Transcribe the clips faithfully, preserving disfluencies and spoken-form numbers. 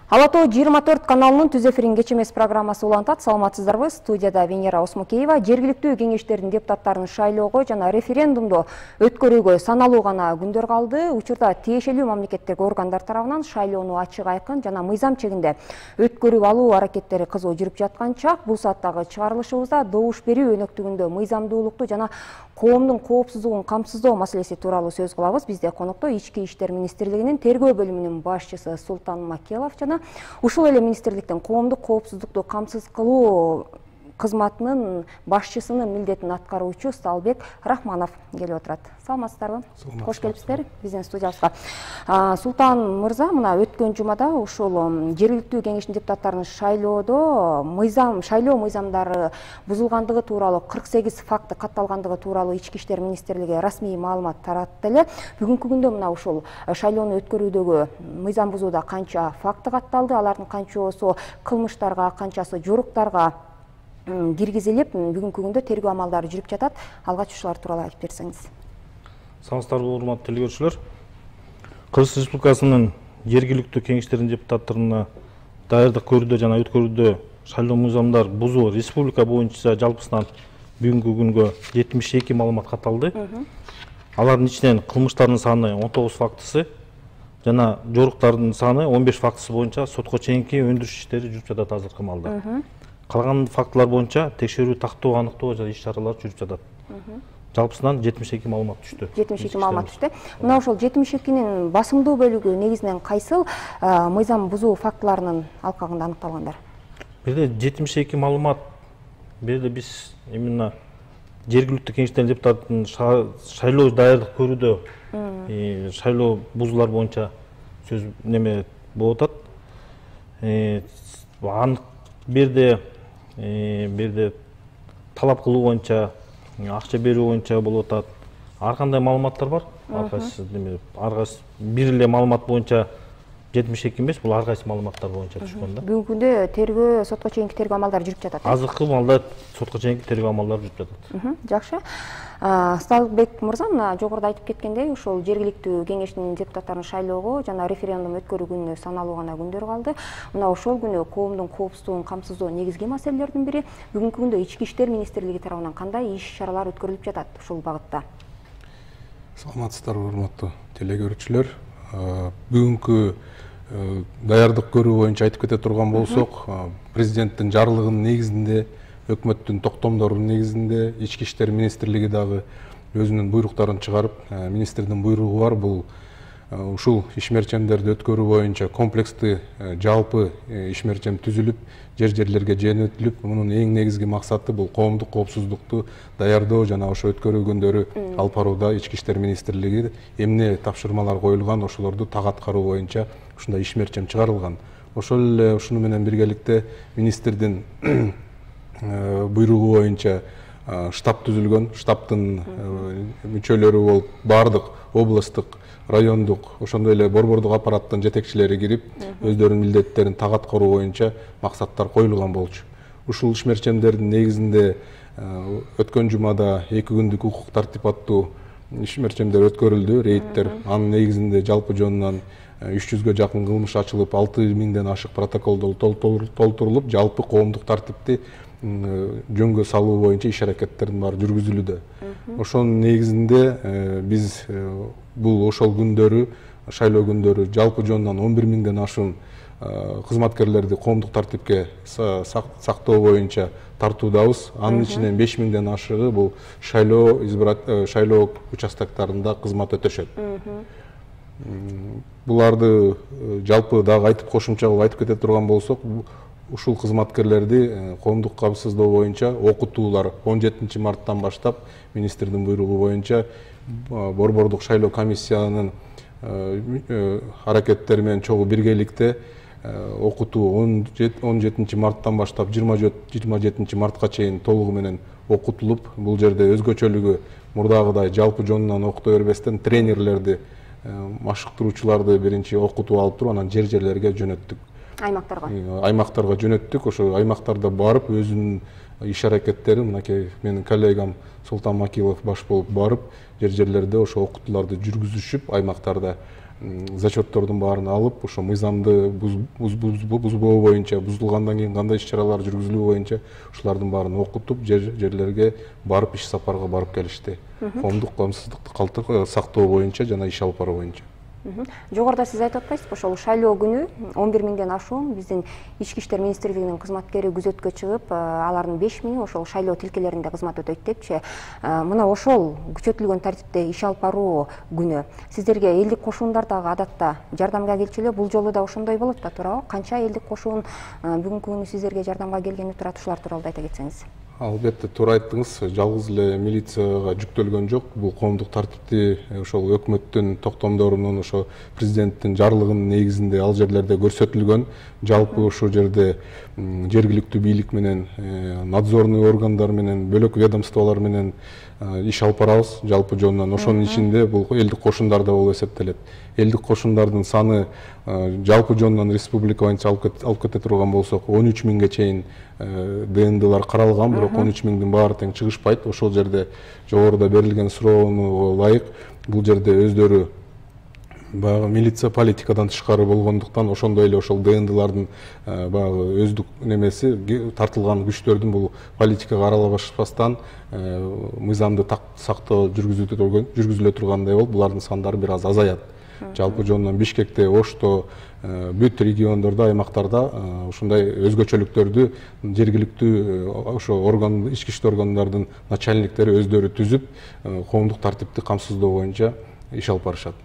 Ала тоо жыйырма төрт каналынын түз эфирин кеч эмес программасы улантат. Саламатсыздарбы? Студияда Венера Осмукеева. Жергиликтүү кеңештердин депутаттарын шайлоого жана референдумду өткөрүүгө саналуу гана күндөр калды. Учурда тиешелүү мамлекеттик органдар тарабынан шайлоону ачык, айкын жана мыйзам чегинде өткөрүп алуу аракеттери кызуу жүрүп жаткан чак. Бул сааттагы чыгарылышыбызда добуш берүү өнөктүгүндө мыйзамдуулукту жана коомдун коопсуздугун камсыздоо маселеси тууралуу сөз кылабыз. Бизде конокто Ички иштер министрлигинин тергөө бөлүмүнүн башчысы Султан Макелов жана ушул эле министрликтин коомдук коопсуздукту камсыз кылуу кызматынын башчысынын милдетин аткаруучу Сталбек Рахманов келип отурат. Саламатсыздарбы? Кош келипсиздер биздин студиябызга. Султан мырза, мына өткөн жумада ушул жергиликтүү кеңештин депутаттарын шайлоодо мыйзам шайлоо мыйзамдары бузулгандыгы тууралуу кырк сегиз факты катталгандыгы тууралуу Ички иштер министрлиги расмий маалымат таратты эле. Бүгүнкү күндө мына ушул шайлоону өткөрүүдөгү мыйзам бузууда канча факты катталды, алардын канчоосу кылмыштарга, канчасы жоруктарга киргизилип, бүгүнкү күндө тергөө амалдары жүрүп жатат. Алгач ушулар тууралуу айтып берсеңиз. Саламатсыздарбы, урматтуу телекөрүүчүлөр. Кыргыз Республикасынын жергиликтүү кеңештеринин депутаттарына даярдык көрүүдө жана өткөрүүдө шайлоо мыйзамдар бузуу республика боюнча жалпысынан бүгүнкү күнгө жетимиш эки маалымат катталды. Алардын ичинен кылмыштардын саны он тогуз фактысы жана жоруктардын саны он беш фактысы боюнча сотко чейинки өндүрүш иштери жүрүп жатат азыркы маалда. Калган фактылар боюнча текшерүү, тактоо, аныктоо жана иш-чаралар жүрүп жатат. Жалпысынан жетимиш эки маалымат түштү. жетимиш эки маалымат түштү. Мына ошол жетимиш экинин басымдуу бөлүгү негизинен кайсыл мыйзам бузуу фактыларынын алкагында аныкталгандар? Бирде жетимиш эки маалымат, бирде биз именно жергиликтүү кеңештердин депутаттын шайлоо даярдык көрүүдө шайлоо бузуулар боюнча сөз неме болуп атат. Анык бирде бирде талап кылуу боюнча, акча берүү боюнча болуп атат. Ар кандай маалыматтар бар. Ар кайсы неме, ар кайсы бир эле маалымат боюнча жетимиш эки эмес, бул ар кайсы маалыматтар боюнча түшкөн да. Бүгүнкү күндө тергөө, сотко чейинки тергөө амалдары жүрүп жатат. Азыркы маалда сотко чейинки тергөө амалдары жүрүп жатат. Жакшы. Сталбек мырза, мына жогоруда айтып кеткендей, ушул жергиликтүү кеңештин депутаттарын шайлоого жана референдум өткөрүү күнүнө саналуу гана күндөр калды. Мына ошол күнү коомдун коопсуздугун камсыздоо негизги маселелердин бири. Бүгүнкү күндө Ички иштер министрлиги тарабынан кандай иш-чаралар өткөрүлүп жатат ушул багытта? Саламатсыздарбы, урматтуу телекөрүүчүлөр. Бүгүнкү даярдык көрүү боюнча айтып кете турган болсок, президенттин жарлыгынын негизинде, өкмөттүн токтомдорунун негизинде Ички иштер министрлиги дагы өзүнүн буйруктарын чыгарып, министрдин буйругу бар. Бул ушул ишмерчемдерди өткөрүү боюнча комплекстүү жалпы ишмерчем түзүлүп, жер-жерлерге жөнөтүлүп, мунун эң негизги максаты бул коомдук коопсуздукту даярдоо жана ошо өткөрүү күндөрү алып барууда Ички иштер министрлиги эмне тапшырмалар коюлган, ошолорду так аткаруу боюнча ушундай ишмерчем чыгарылган. Ошол эле ушуну менен биргеликте министрдин буйругу боюнча штаб түзүлгөн. Штабтын мүчөлөрү болуп баардык областтык, райондук, ошондой эле борбордук аппараттын жетекчилери кирип, өздөрүнүн милдеттерин так аткаруу боюнча максаттар коюлган болчу. Ушул ишмерчемдердин негизинде өткөн жумада эки күндүк укук тартип аттуу ишмерчемдер өткөрүлдү, рейдтер. Анын негизинде жалпы жонунан үч жүзгө жакын кылмыш ачылып, алты миңден ашык протокол толтурулуп, жалпы коомдук тартипти жөнгө салуу боюнча иш-аракеттердин баары жүргүзүлүүдө. Ошонун негизинде биз бул ошол күндөрү, шайлоо күндөрү жалпы жонунан он бир миңден ашуун кызматкерлерди коомдук тартипке сактоо боюнча тартуудабыз. Анын ичинен беш миңден ашыгы бул шайлоо шайлоо участоктарында кызмат өтөшөт. Буларды жалпы дагы айтып кошумча кылып айтып кете турган болсок, ушул кызматкерлерди коомдук камсыздоо боюнча окутуулар он жетинчи марттан баштап министрдин буйругу боюнча борбордук шайлоо комиссиянын аракеттери менен чогуу биргеликте окутуу он жетинчи марттан баштап жыйырма жетинчи мартка чейин толугу менен окутулуп, бул жерде өзгөчөлүгү мурдагыдай жалпы жонунан окута бербестен тренерлерди, машыктыруучуларды биринчи окутуп алып туруп, анан жер-жерлерге жөнөттүк. Аймактарга. Аймактарга жөнөттүк. Ошо аймактарда барып өзүнүн иш-аракеттерин, мынакей менин коллегам Султан Макилов баш болуп барып, жер-жерлерде ошо окутууларды жүргүзүшүп, аймактарда зачеттордун баарын алып ошо мыйзамды бузбоо боюнча, бузулгандан кийин кандай иш чаралар жүргүзүлүү боюнча ушулардын баарын окутуп жерлерге барып иш сапарга барып келишти. Коомдук коомсуздукту сактоо боюнча жана иш алып баруу боюнча. Жогоруда сиз айтып атпайсызбы, ошол шайлоо күнү он бир миңден ашуун биздин Ички иштер министрлигинин кызматкери күзөткө чыгып, алардын беш миңи ошол шайлоо тилкелеринде кызмат өтөйт депчи. Мына ошол күчөтүлгөн тартипте иш алып баруу күнү сиздерге элдик кошундар дагы адатта жардамга келчү эле, бул жолу да ошондой болот да, туурабы? Канча элдик кошун бүгүнкү күнү сиздерге жардамга келгени турат, ушулар тууралуу айта кетсеңиз. Албетте, туура айттыңыз. Жалгыз эле милицияга жүктөлгөн жок. Бул коомдук тартипти ошол өкмөттүн токтомдорунун, ошо президенттин жарлыгынын негизинде ал жерлерде көрсөтүлгөн. Жалпы ошол жерде жергиликтүү бийлик менен, надзорный органдар менен, бөлөк ведомстволор менен иш алып барабыз жалпы жонунан. Ошонун ичинде бул элдик кошундар да болуп эсептелет. Элдик кошундардын саны жалпы жонунан республика боюнча алып кете турган болсок он үч миңге чейин Д Н Д'лар каралган, бирок он үч миңдин баары тең чыгышпайт. Ошол жерде жогоруда берилген суроону ылайык бул жерде өздөрү баягы милиция политикадан тышкары болгондуктан ошондой эле ошол Д Н Д'лардын баягы өздүк немеси тартылган күчтөрдүн бул политикага аралашпастан мыйзамды сактоо жүргүзүлө тургандай болуп, булардын сандары бир аз азаят. Жалпы жонунан Бишкекте, Ошто, бүт региондордо, аймактарда ушундай өзгөчөлүктөрдү жергиликтүү ошо орган, ички иштер органдардын начальниктери өздөрү түзүп, коомдук тартипти камсыздоо боюнча иш алып барышат.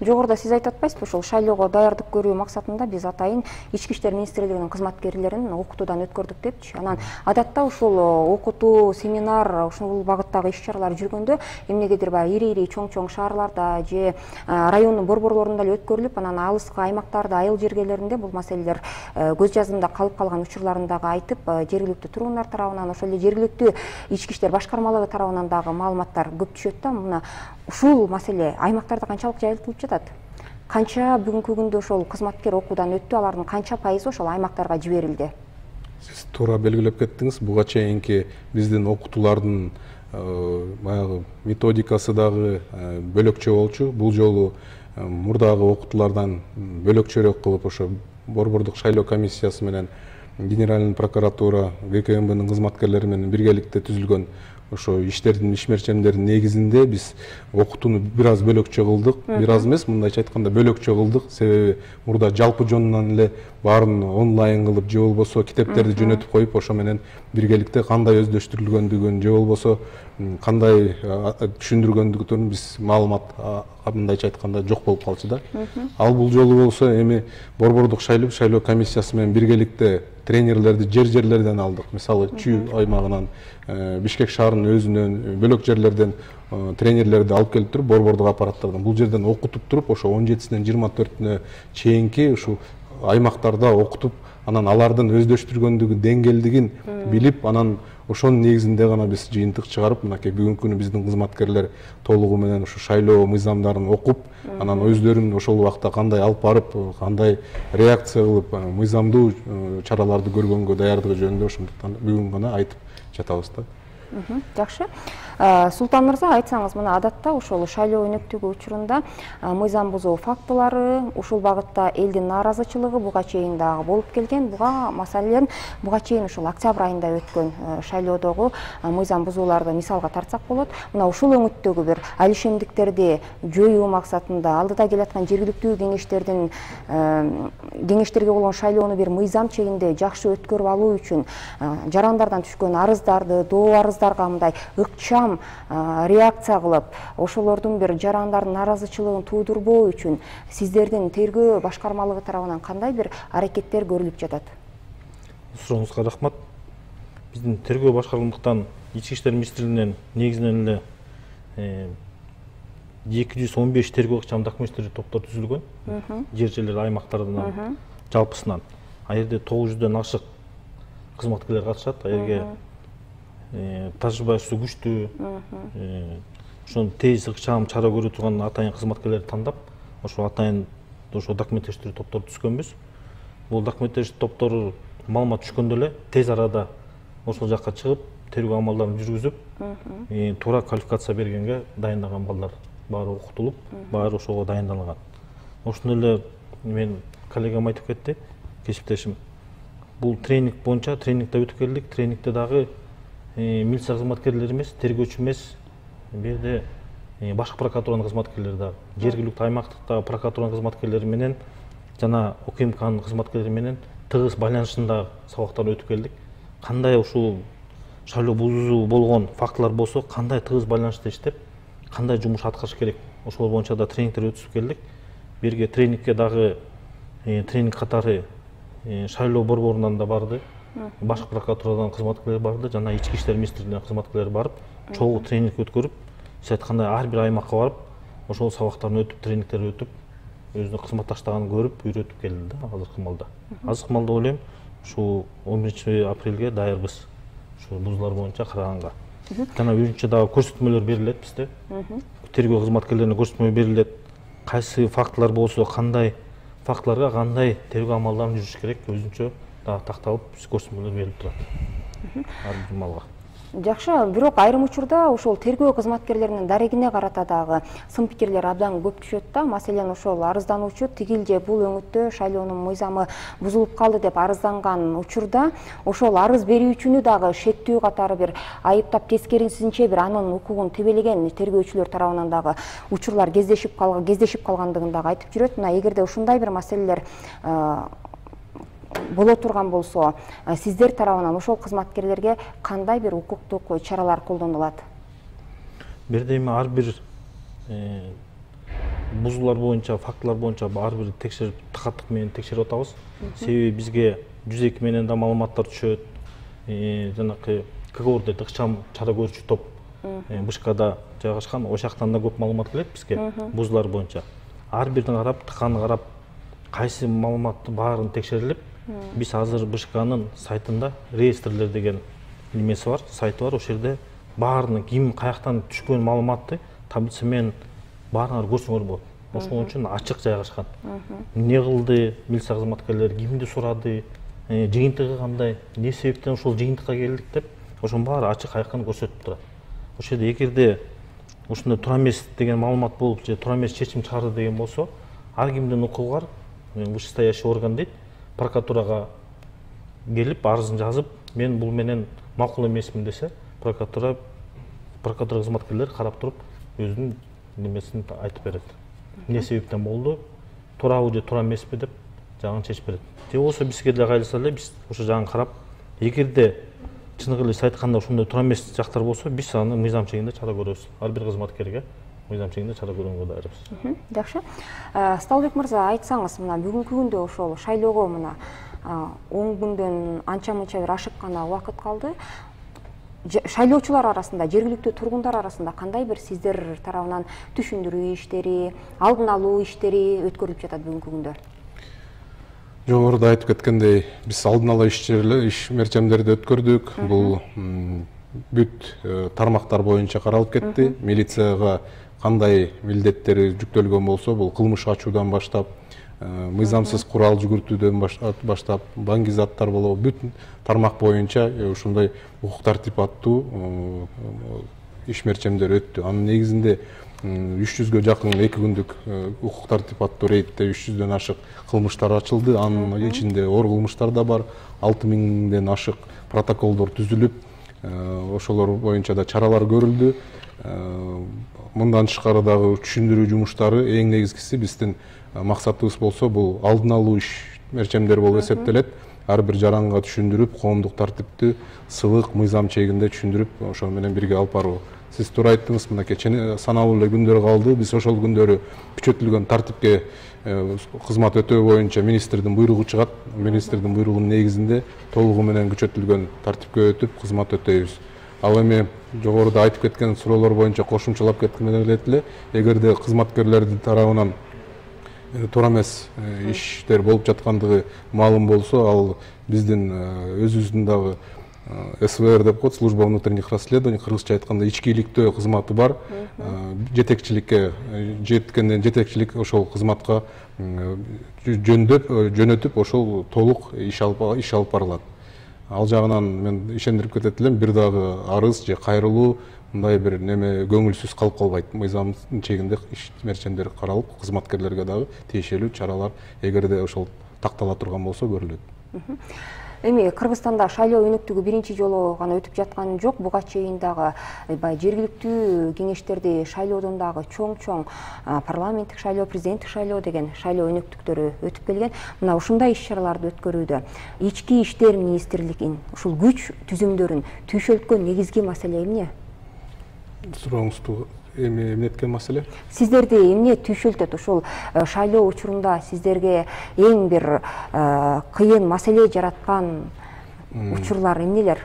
Жогоруда сиз айтып атпайсызбы, ошол шайлоого даярдык көрүү максатында биз атайын Ички иштер министрлигинин кызматкерлерин окутуудан өткөрдүк депчи. Анан адатта ушул окутуу, семинар, ушул багыттагы иш чаралар жүргөндө эмнегедир баягы ири-ири чоң-чоң шаарларда же райондун борборлорунда эле өткөрүлүп, анан алыскы аймактарда, айыл жергелеринде бул маселелер көз жазымда калып калган учурларын дагы айтып, жергиликтүү тургундар тарабынан, ошол эле жергиликтүү ички иштер башкармалыгы тарабынан дагы маалыматтар көп түшөт да. Мына ушул маселе аймактарда канчалык жайылтылып жатат? Канча бүгүнкү күндө ошол кызматкер окуудан өттү, алардын канча пайызы ошол аймактарга жиберилди? Сиз туура белгилеп кеттиңиз. Буга чейинки биздин окутуулардын баягы методикасы дагы бөлөкчө болчу. Бул жолу мурдагы окутуулардан бөлөкчөрөөк кылып ошо борбордук шайлоо комиссиясы менен Генеральный прокуратура, Г К М Б'нин кызматкерлери менен биргеликте түзүлгөн ошо иштердин, ишмерчемдердин негизинде биз окутууну бир аз бөлөкчө кылдык. Бир аз эмес, мындайча айтканда бөлөкчө кылдык. Себеби мурда жалпы жонунан эле баарын онлайн кылып же болбосо китептерди жөнөтүп коюп, ошо менен биргеликте кандай өздөштүрүлгөндүгүн же болбосо кандай түшүндүргөндүгүн биз маалымат мындайча айтканда жок болуп калчу да. Ал бул жолу болсо эми борбордук шайлоо шайлоо комиссиясы менен биргеликте тренерлерди жер-жерлерден алдык. Мисалы Чүй аймагынан, Бишкек шаарынын өзүнөн, бөлөк жерлерден тренерлерди алып келип туруп, борбордук аппараттардан бул жерден окутуп туруп, ошо он жетисинен жыйырма төртүнө чейинки ушул аймактарда окутуп, анан алардын өздөштүргөндүгү деңгээлдигин билип, анан ошонун негизинде гана биз жыйынтык чыгарып, мынакей бүгүнкү күнү биздин кызматкерлер толугу менен ушу шайлоо мыйзамдарын окуп, анан өздөрүн ошол убакта кандай алып барып, кандай реакция кылып, мыйзамдуу чараларды көргөнгө даярдыгы жөнүндө ошондуктан бүгүн гана айтып жатабыз да. Жакшы. Султан мырза, айтсаңыз, мына адатта ошол шайлоо өнөктүгү учурунда мыйзам бузуу фактылары, ушул багытта элдин нааразычылыгы буга чейин дагы болуп келген. Буга маселен буга чейин ушул октябрь айында өткөн шайлоодогу мыйзам бузууларды мисалга тартсак болот. Мына ушул өңүттөгү бир алишемдиктерди жоюу максатында алдыда келаткан жергиликтүү кеңештердин кеңештерге болгон шайлоону бир мыйзам чегинде жакшы өткөрүп алуу үчүн жарандардан түшкөн арыздарды, доо арыздарга мындай ыкчам реакция кылып, ошолордун бир жарандардын нааразычылыгын туудурбоо үчүн сиздердин тергөө башкармалыгы тарабынан кандай бир аракеттер көрүлүп жатат? Сурооңузга рахмат. Биздин тергөө башкармалыктан Ички иштер министрлигинен негизинен эле эки жүз он беш тергөө ыкчам документтер топтор түзүлгөн. Жер-жерлер аймактарынан жалпысынан. А жерде тогуз жүздөн ашык кызматкерлер катышат. А жерге тажрыйбасы күчтүү, ошон тез ыкчам чара көрө турган атайын кызматкерлерди тандап, ошо атайын ошо документтештирүү топторду түзгөнбүз. Бул документтештирүү топтору маалымат түшкөндө эле тез арада ошол жакка чыгып, тергөө амалдарын жүргүзүп, туура квалификация бергенге дайындаган балдар баары окутулуп, баары ошого дайындалган. ошондой эле мен коллегам айтып кетти, кесиптешим. Бул тренинг боюнча тренингде өтүп келдик. Тренингде дагы милиция кызматкерлери эмес, тергөөчү эмес, бул жерде башкы прокуратуранын кызматкерлери дагы, жергиликтүү аймактыктагы прокуратуранын кызматкерлери менен жана УКМКнын кызматкерлери менен тыгыз байланышында сабактан өтүп келдик. Кандай ушул шайлоо бузуу болгон фактылар болсо, кандай тыгыз байланышта иштеп, кандай жумуш аткарыш керек, ошол боюнча да тренингдер өткүзүп келдик. Бирге тренингке дагы тренинг катары шайлоо борборунан да барды, башкы прокуратурадан кызматкерлер барды, жана ички иштер министрлигинин кызматкерлери барып, чогуу тренинг өткөрүп, сиз айткандай ар бир аймакка барып, ошол сабактарын өтүп, тренингдер өтүп, өзүнүн кызматташтарын көрүп, үйрөтүп келди да азыркы маалда. Азыркы маалда ойлойм, ушул он биринчи апрелге даярбыз. Ушул бузуулар боюнча караганга. Жана үйрүнчө дагы көрсөтмөлөр берилет бизде. Тергөө кызматкерлерине көрсөтмө берилет. Кайсы фактылар болсо, кандай фактыларга кандай тергөө амалдарын жүрүш керек, өзүнчө дагы такталып, көрсөтмөлөр берилип турат. Ар бир маалга. Жакшы, бирок айрым учурда ошол тергөө кызматкерлеринин дарегине карата дагы сын пикирлер абдан көп түшөт да. Маселен, ошол арыздануучу тигил же бул өңүттө шайлоонун мыйзамы бузулуп калды деп арызданган учурда ошол арыз берүүчүнү дагы шектүү катары бир айыптап, тескерисинче бир анын укугун тебелеген тергөөчүлөр тарабынан дагы учурлар кездешип калган, кездешип калгандыгын дагы айтып жүрөт. Мына эгерде ушундай бир маселелер боло турган болсо, сиздер тарабынан ошол кызматкерлерге кандай бир укуктук чаралар колдонулат? Бирдеме ар бир бузуулар боюнча, фактылар боюнча ар бир текшерип, тыкаттык менен текшерип атабыз. Себеби бизге жүз эки менен да маалыматтар түшөт. Жанакы КГОРдо ыкчам чара көрүүчү топ Бышкада жайгашкан, ошол жактан да көп маалымат келет бизге бузуулар боюнча. Ар бирин карап, тыканы карап, кайсы маалыматты баарын текшерилип, биз азыр Бышканын сайтында реестрлер деген немеси бар, сайты бар. Ошол жерде баарынын ким каяктан түшкөн маалыматты таблица менен баарыңар көрсөңөр болот. Ошол үчүн ачык жайгашкан. Эмне кылды милиция кызматкерлери, кимди сурады, жыйынтыгы кандай, эмне себептен ошол жыйынтыкка келдик деп, ошонун баары ачык айкын көрсөтүп турат. Ошол жерде эгерде ушундай туура эмес деген маалымат болуп, же туура эмес чечим чыгарды деген болсо, ар кимдин укугу бар. Вышестоящий орган дейт, прокуратурага келип арызын жазып, мен бул менен макул эмесмин десе, прокуратура прокуратура кызматкерлери карап туруп өзүнүн немесин айтып берет. Эмне себептен болду, туурабы же туура эмеспи деп жагын чечип берет. Же болбосо бизге деле кайрылса эле, биз ошо жагын карап, эгерде чыныгы эле сиз айткандай ошондой туура эмес жактар болсо, биз аны мыйзам чегинде чара көрөбүз. Ар бир кызматкерге мыйзам чегинде чара көрүүгө даярбыз. Жакшы. Сталбек мырза, айтсаңыз, мына бүгүнкү күндө ошол шайлоого мына он күндөн анча-мынча бир ашык гана убакыт калды. Шайлоочулар арасында, жергиликтүү тургундар арасында кандай бир сиздер тарабынан түшүндүрүү иштери, алдын алуу иштери өткөрүлүп жатат бүгүнкү күндө? Жогоруда айтып кеткендей, биз алдын ала иш мерчемдерди өткөрдүк. Бул бүт тармактар боюнча каралып кетти. Милицияга кандай милдеттери жүктөлгөн болсо, бул кылмыш ачуудан баштап, мыйзамсыз курал жүгүртүүдөн баштап, баңгизаттар болобу, бүт тармак боюнча ушундай укук тартип аттуу иш мерчемдер өттү. Анын негизинде үч жүзгө жакын эки күндүк укук тартип аттуу рейдте үч жүздөн ашык кылмыштар ачылды. Анын ичинде оор кылмыштар да бар. алты миңден ашык протоколдор түзүлүп, ошолор боюнча да чаралар көрүлдү. Мындан тышкары дагы түшүндүрүү жумуштары, эң негизгиси биздин максатыбыз болсо, бул алдын алуу иш мерчемдер болуп эсептелет. Ар бир жаранга түшүндүрүп, коомдук тартипти сылык мыйзам чегинде түшүндүрүп, ошол менен бирге алып баруу. Сиз туура айттыңыз, мынакей саналуу эле күндөр калды. Биз ошол күндөрү күчөтүлгөн тартипке кызмат өтөө боюнча министрдин буйругу чыгат. Министрдин буйругунун негизинде толугу менен күчөтүлгөн тартипке өтүп кызмат өтөйбүз. Ал эми жогоруда айтып кеткен суроолор боюнча кошумчалап кеткенде эле, эгерде кызматкерлердин тарабынан туура эмес иштер болуп жаткандыгы маалым болсо, ал биздин өзүбүздүн дагы эс вэ эр деп коет, служба внутренних расследований, кыргызча айтканда ички иликтөө кызматы бар. Жетекчиликке жеткенден жетекчилик ошол кызматка жөндөп, жөнөтүп, ошол толук иш алып барылат. Ал жагынан мен ишендирип кетет элем, бир дагы арыз же кайрылуу мындай бир неме көңүлсүз калып калбайт. Мыйзамдын чегинде иш мерчемдери каралып, кызматкерлерге дагы тиешелүү чаралар эгерде ошол тактала турган болсо көрүлөт. Эми Кыргызстанда шайлоо өнөктүгү биринчи жолу гана өтүп жаткан жок. Буга чейин дагы баягы жергиликтүү кеңештерди шайлоодон дагы чоң-чоң парламенттик шайлоо, президенттик шайлоо деген шайлоо өнөктүктөрү өтүп келген. Мына ушундай иш-чараларды өткөрүүдө ички иштер министрлигинин ушул күч түзүмдөрүн түйшөлткөн негизги маселе эмне? Сурооңузду эми эмнеткен маселе? Сиздерди эмне түйшөлтөт? Ушул шайлоо учурунда сиздерге эң бир кыйын маселе жараткан учурлар эмнелер?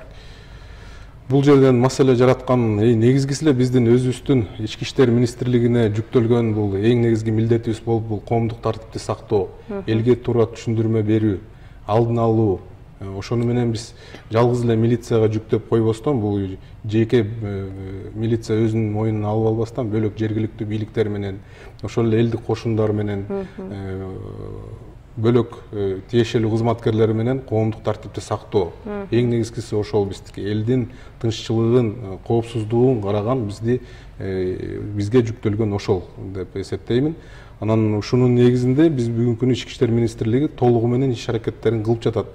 Бул жерден маселе жараткан негизгиси эле биздин өзүбүздүн ички иштер министрлигине жүктөлгөн бул эң негизги милдетибиз болуп, бул коомдук тартипти сактоо, элге туура түшүндүрмө берүү, алдын алуу. Ошону менен биз жалгыз эле милицияга жүктөп койбостон, бул жеке милиция өзүнүн мойнуна алып албастан, бөлөк жергиликтүү бийликтер менен, ошол эле элдик кошундар менен, бөлөк тиешелүү кызматкерлер менен коомдук тартипти сактоо. Эң негизгиси ошол биздики элдин тынччылыгын, коопсуздугун караган бизди бизге жүктөлгөн ошол деп эсептеймин. Анан ушунун негизинде биз бүгүнкү күнү ички иштер министрлиги толугу менен иш аракеттерин кылып жатат.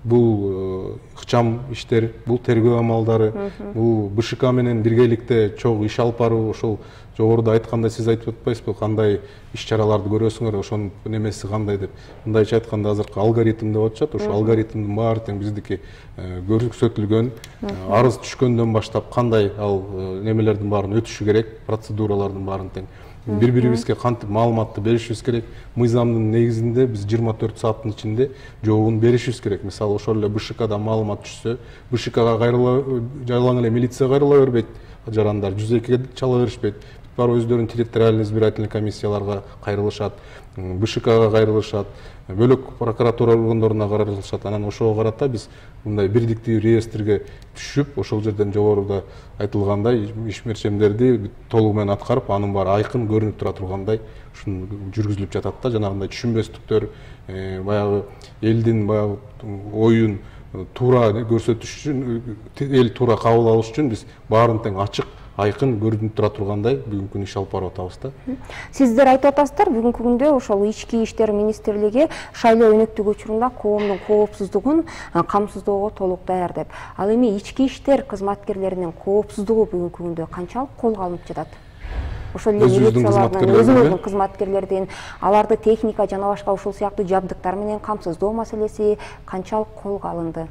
Бул ыкчам иштер, бул тергөө амалдары, бул БШК менен биргеликте чогуу иш алып баруу, ошол жогоруда айткандай сиз айтып атпайсызбы, кандай иш-чараларды көрөсүңөр, ошонун немеси кандай деп. Мындайча айтканда азыркы алгоритм деп атышат, ошол алгоритмдин баары тең биздики көрсөтүлгөн, арыз түшкөндөн баштап кандай ал немелердин баарын өтүшү керек, процедуралардын баарын тең бири-бирибизге кантип маалыматты беришибиз керек. Мыйзамдын негизинде биз жыйырма төрт сааттын ичинде жообун беришибиз керек. Мисалы ошол эле БШКдан маалымат түшсө, БШКга кайрыла жалаң эле милиция кайрыла бербейт, жарандар жүз экиге чала беришпейт. Барып өздөрүнүн территориальный избирательный комиссияларга кайрылышат, БШКга кайрылышат, бөлөк прокуратура органдоруна кайрылышат. Анан ошого карата биз мындай бирдиктүү реестрге түшүп, ошол жерден жогоруда айтылгандай иш мерчемдерди толугу менен аткарып, анын баары айкын көрүнүп тура тургандай ушун жүргүзүлүп жатат да. Жанагындай түшүнбөстүктөр, баягы элдин баягы оюн туура көрсөтүш үчүн, эл туура кабыл алыш үчүн биз баарын тең ачык, айкын көрүнүп тура тургандай бүгүнкү күнү иш алып барып атабыз да. Сиздер айтып атасыздар, бүгүнкү күндө ошол ички иштер министрлиги шайлоо өнөктүгү учурунда коомдун коопсуздугун камсыздоого толук даяр деп. Ал эми ички иштер кызматкерлеринин коопсуздугу бүгүнкү күндө канчалык колго алынып жатат? Ошол эле милициялардын, өзүңүздүн кызматкерлердин, аларды техника жана башка ушул сыяктуу жабдыктар менен камсыздоо маселеси канчалык колго алынды?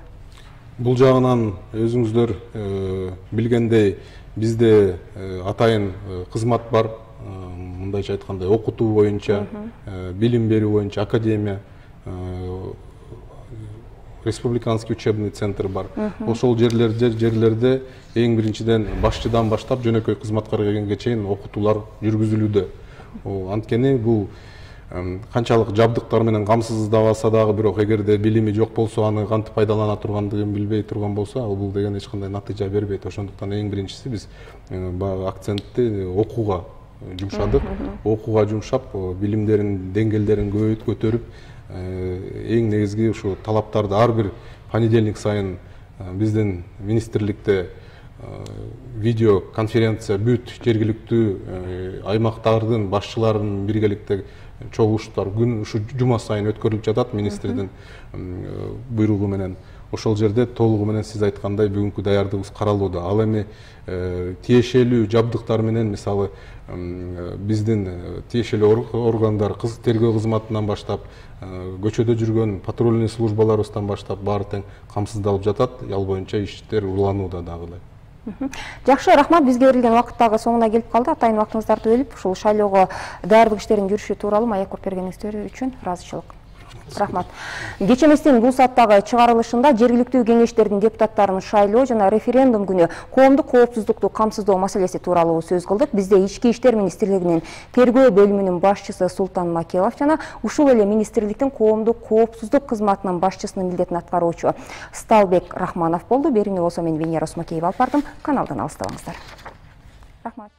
Бул жагынан өзүңүздөр билгендей, бизде атайын кызмат бар, мындайча айтканда окутуу боюнча, билим берүү боюнча академия, республиканский учебный центр бар. Ошол жерлерде жерлерде эң биринчиден башчыдан баштап жөнөкөй кызматкарга келгенге чейин окутуулар жүргүзүлүүдө. Анткени бул канчалык жабдыктар менен камсыздабаса дагы, бирок эгерде билими жок болсо, аны кантип пайдалана тургандыгын билбей турган болсо, ал бул деген эч кандай натыйжа бербейт. Ошондуктан эң биринчиси биз акцентти окууга жумшадык. Окууга жумшап, билимдерин деңгээлдерин көтөрүп, эң негизги ушу талаптарды ар бир понедельник сайын биздин министрликте видео конференция бүт жергиликтүү аймактардын башчыларынын биргеликте чогулуштар күн ушу жума сайын өткөрүлүп жатат министрдин буйругу менен. Ошол жерде толугу менен сиз айткандай бүгүнкү даярдыгыбыз каралууда. Ал эми тиешелүү жабдыктар менен, мисалы биздин тиешелүү органдар, кыз тергөө кызматынан баштап, көчөдө жүргөн патрульный службаларыбыздан баштап баары тең камсыздалып жатат. Ал боюнча иштер уланууда дагы эле. Жакшы, рахмат. Бизге берилген убакыт дагы соңуна келип калды. Атайын убактыңыздарды бөлүп, ушул шайлоого даярдык иштеринин жүрүшү тууралуу маек коюп бергениңиздер үчүн ыраазычылык. Рахмат. Кечеместин бул сааттагы чыгарылышында жергиликтүү кеңештердин депутаттарын шайлоо жана референдум күнү коомдук коопсуздукту камсыздоо маселеси тууралуу сөз кылдык. Бизде ички иштер министрлигинин тергөө бөлүмүнүн башчысы Султан Макелов жана ушул эле министрликтин коомдук коопсуздук кызматынын башчысынын милдетин аткаруучу Сталбек Рахманов болду. Берүүнү болсо мен Венера Осмокеева алып бардым. Каналдан алыстабаңыздар. Рахмат.